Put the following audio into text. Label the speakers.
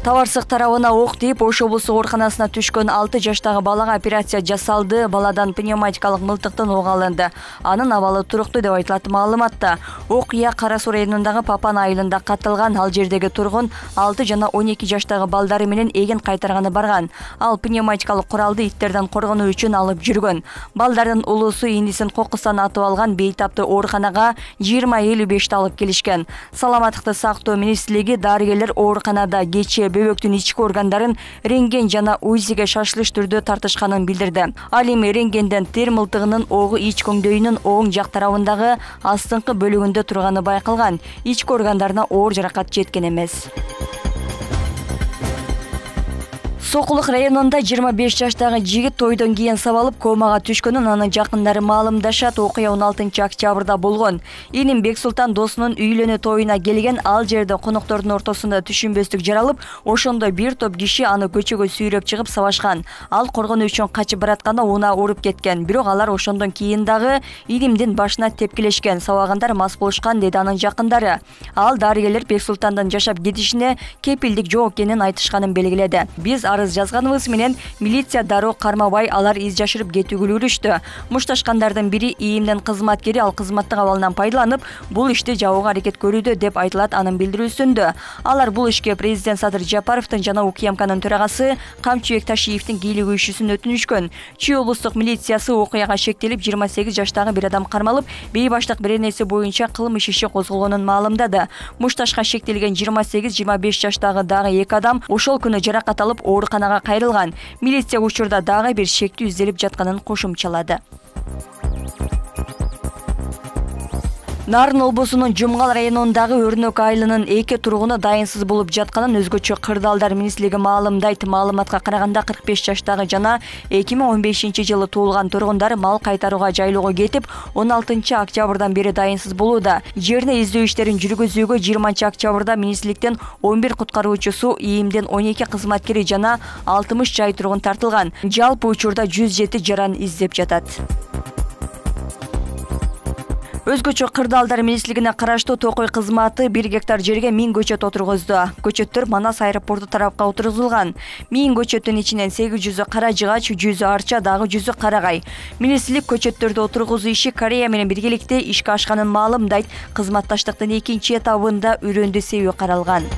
Speaker 1: Табарсык тарабына ок тийип, Ош облустук ооруканасына түшкөн 6 жаштагы балага операция жасалды. Баладан пневматикалык мылтыктын ок алынды. Анын абалы туруктуу деп айтылат маалыматта. Окуя Кара Суу районундагы Папан айылында катталган. Ал жердеги тургун 6 жана 12 жаштагы балдары менен эгин кайтарганы барган. Ал пневматикалык куралды иттерден коргонуу үчүн алып жүргөн. Балдардын улуусу инисин кокустан атып алган. Бейтаптуу ооруканага 20:55 алып келишкен. Саламаттыкты сактоо министрлиги дарыгерлер ооруканада кечээ бөбөктүн ички органдарын рентген жана УЗИге шашылыш түрдө тартышканын билдирди. Ал эми рентгенден тер мылтыгынын огу ич көңдөйүнүн оң жак тарабындагы астыңкы бөлүгүндө турганы байкалган. Ички органдарына оор жаракат жеткен эмес. Сокулук районунда 25 жаштагы жигит тойдон кийин сабалып комага түшкөнүн анын жакындары маалымдашат. Окуя 16 октябрда болгон. Иним Бексултан досунун үйлөнүү тоюна келген. Ал жерде коноктордун ортосунда түшүнбөстүк жаралып, ошондо бир топ киши аны көчөгө сүйрөп чыгып сабашкан. Ал коргонуу үчүн качып баратканда унаа уруп кеткен. Бирок алар ошондон кийин дагы Инимдин башына тепкилешкен. Сабагандар мас болушкан, деди анын жакындары. Ал дарыгерлер Бексултандын жашап кетишине кепилдик жок экенин айтышканын белгиледи. Биз жазганыбыз менен милиция дароо кармабай, алар из жашырып кетүүгө үлгүрүштү. Мушташкандардын бири ИИМдин кызматкери ал кызматтык абалынан пайдаланып, бул ишти жабууга аракет көрүүдө деп айтылат анын билдирүүсүндө. Алар бул ишке президент Садыр Жапаровдун жана УКМКнын төрагасы Камчыбек Ташиевдин кийлигүүчүсүн өтүнүшкөн. Чүй облустук милициясы окуяга шектелип 28 жаштагы бир адам кармалып, бейбаштык беренеси боюнча кылмыш иши козголгонун маалымдады. Мушташка шектелген 28-25 жаштагы дагы 2 адам ошол күнү жаракат алып ооруканага кайрылган. Милиция учурда дагы бир шектүү изделип жатканын кошумчалады. Нарын облусунун Жумгал районундагы Өрнөк айылынын 2 тургуну дайынсыз болуп жатканын өзгөчө кырдаалдар министрлиги маалымдайт. Маалыматка караганда 45 жаштагы жана 2015-жылы туулган тургундар мал кайтарууга жайлоого кетип, 16 октябрдан бери дайынсыз болууда. Жерине издөө иштерин жүргүзүүгө 20 октябрда министрликтен 11 куткаруучусу, ИИМдин 12 кызматкери жана 60 жай тургун тартылган. Жалпы учурда 107 жаран издеп жатат. Өзгөчө кырдаалдар министрлигине караштуу Токой кызматы 1 гектар жерге 1000 көчөт отургузду. Көчөттөр Манас аэропорту тарапка отургузулган. 1000 көчөттүн ичинен 800 кара жыгач, 100 арча, дагы 100 карагай. Министрлик көчөттөрдү отургузуу иши Корея менен биргеликте ишке ашканын маалымдайт. Кызматташтыктын экинчи этабында үрөндү себүү каралган.